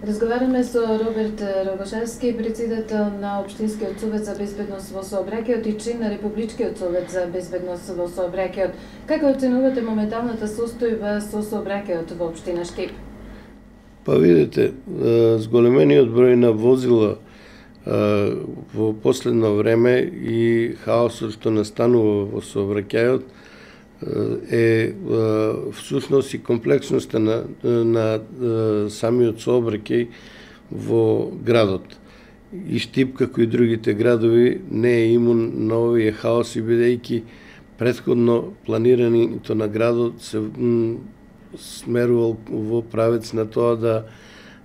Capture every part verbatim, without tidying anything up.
Разговараме со Роберт Рогошевски, председател на Општинскиот совет за безбедност во сообраќајот и член на Републичкиот совет за безбедност во сообраќајот. Како оценувате моменталната состојба со сообраќајот во општина Штип? Па видите, зголемениот број на возила во последно време и хаосот што настанува во сообраќајот е всушност и комплексноста на, на самиот сообраќај во градот. И Штип, како и другите градови, не е имун на овие хаоси, бидејќи претходно планирањето на градот се смерувал во правец на тоа да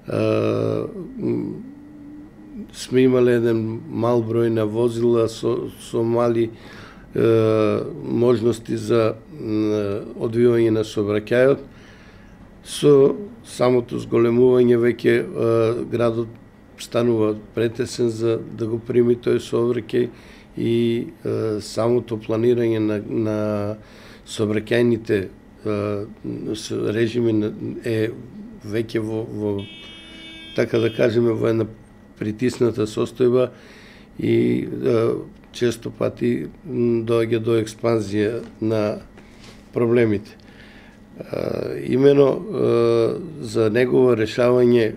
а, сме имале еден мал број на возила со, со мали е, можности за е, одвивање на сообраќајот. Со самото зголемување веќе е, градот станува претесен за да го прими тој сообраќај и е, самото планирање на, на сообраќајните режими е веќе во, во така да кажеме во една притисната состојба и е, често пати доаѓа до експанзија на проблемите. Е, имено е, за негово решавање,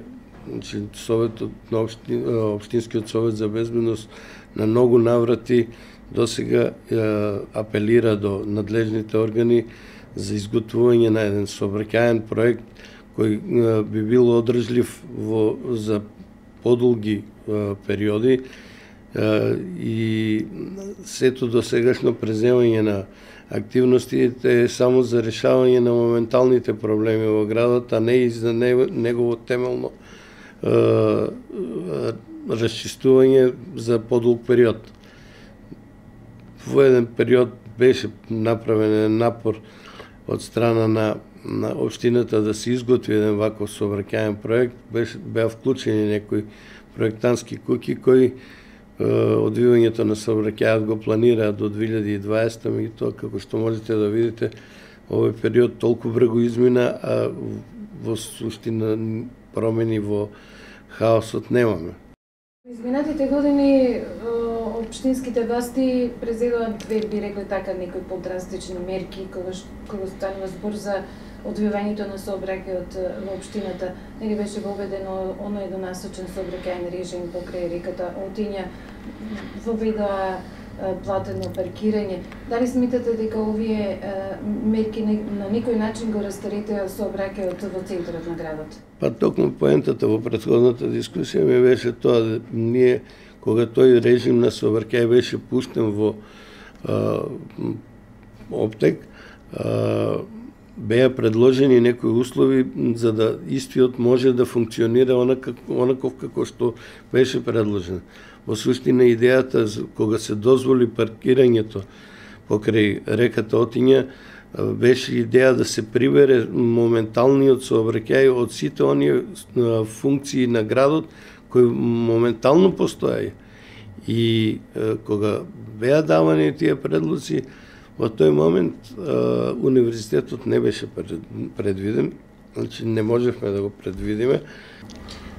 значи, Советот на општи, Општинскиот совет за безбедност на многу наврати досега е, апелира до надлежните органи за изготвување на еден сообраќајен проект кој е, би бил одржлив во, за подолги е, периоди е, и сето до сегашно преземање на активностите е само за решавање на моменталните проблеми во градот, а не и за негово темелно е, расчистување за подолг период. Во еден период беше направен напор од страна на, на општината да се изготви еден ваков сообраќајен проект, беше, беа вклучени некои проектантски куќи кои е, одвивањето на сообраќајот го планираат до две илјади и дваесета, меѓутоа како што можете да видите, овој период толку брзо измина, а во суштина промени во хаосот немаме. Изминатите години општинските власти презедуваат, би рекли така, некои подрастични мерки кога кога станува збор за одвивањето на сообраќајот во општината. Нели беше воведено оној еднонасочен сообраќајен режим покрај реката Отиња, воведоа платено паркирање. Дали смитате дека овие мерки на некој начин го растаретеа сообраќајот во центарот на градот? Па токму поентата во претходната дискусија ми беше тоа да ние, кога тој режим на сообраќај беше пуштен во а, оптек, а, беа предложени некои услови за да истиот може да функционира онаков, онаков како што беше предложен. Во суштина идејата кога се дозволи паркирањето покрај реката Отиња беше идеја да се прибере моменталниот сообраќај од сите оние функции на градот кои моментално постојаја. И кога беа давани тие предлоци, во тој момент универзитетот не беше предвиден, значи не можевме да го предвидиме.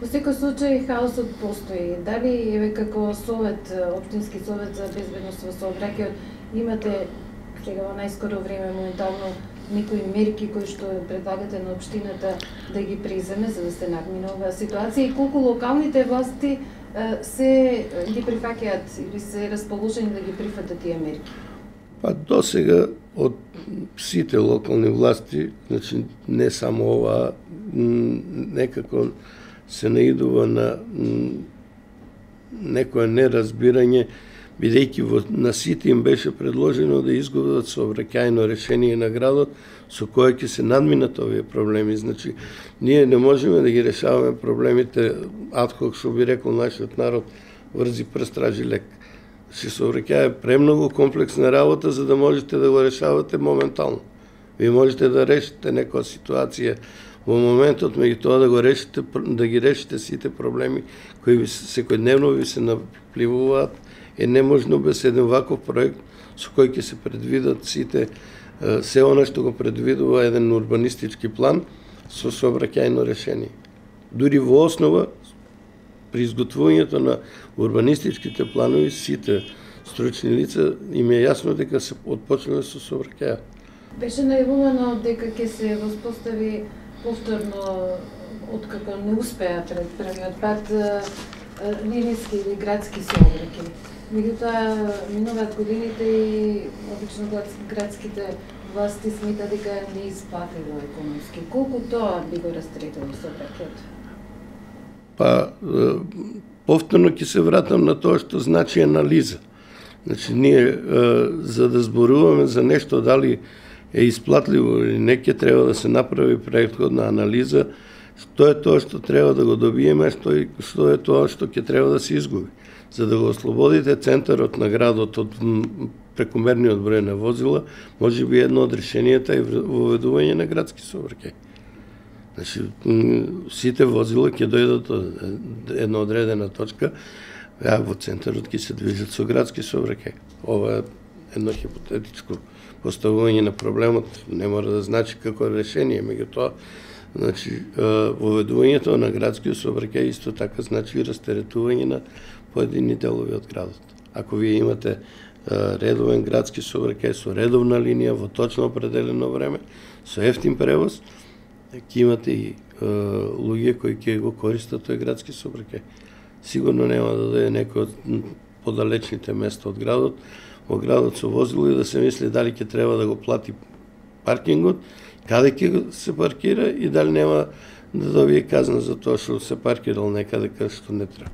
Во секој случај хаосот постои. Дали еве како совет, општински совет за безбедност во сообраќајот, имате сега во најскоро време моментално некои мерки кои што предлагате на општината да ги преземе за да се надмине оваа ситуација и колку локалните власти се ги прифаќаат или се расположени да ги прифатат тие мерки? Па досега од сите локални власти, значи не само ова, некако се наидува на некое неразбирање, бидејќи на сите им беше предложено да изготват сообраќајно решение на градот со кое ќе се надминат овие проблеми. Значи, ние не можеме да ги решаваме проблемите адхок, што би рекол нашиот народ, врзи прст, тражи лек. Значи, сообраќај е премногу комплексна работа за да можете да го решавате моментално. Вие можете да решите некоја ситуација во моментот, меѓутоа да го решите, да ги решите сите проблеми кои ви секојдневно ви се напливуваат, е неможно без еден ваков проект со кој ќе се предвидат сите се она што го предвидува еден урбанистички план со сообраќајно решение. дури во основа при изготвувањето на урбанистичките планови сите стручни лица им е јасно дека се отпочнува со сообраќаја. Беше најавувано дека ќе се воспостави повторно, откако не успеа пред првиот пат, линиски или градски сообраќај. Меѓутоа, минуваат годините и обично градските власти смета дека не исплатило економски. Колку тоа би го растретило сообраќајот? Па, повторно ќе се вратам на тоа што значи анализа. Значи, ние, за да зборуваме за нешто, дали е исплатливо или не, ќе треба да се направи претходна анализа, што е тоа што треба да го добиеме, што е, што е тоа што ќе треба да се изгуби. За да го ослободите центарот на градот од прекомерниот број на возила, може би едно од решенијата е воведување на градски сообраќај. Значи, сите возила ќе дојдат од една одредена точка, а во центарот ќе се движат со градски сообраќај. Ова е едно хипотетичко поставување на проблемот, не мора да значи како решение, меѓутоа, значи, воведувањето на градски сообраќај исто така значи и растеретување на поедини делови од градот. Ако вие имате редовен градски сообраќај со редовна линија во точно определено време, со ефтин превоз, ќе имате и луѓе кои ќе го користат тој градски сообраќај. Сигурно нема да дојде некој од подалечните места од градот, во градот со возило и да се мисли дали ќе треба да го плати паркингот, каде ќе се паркира и дали нема да добие казна за тоа што се паркирал некаде каде што не треба.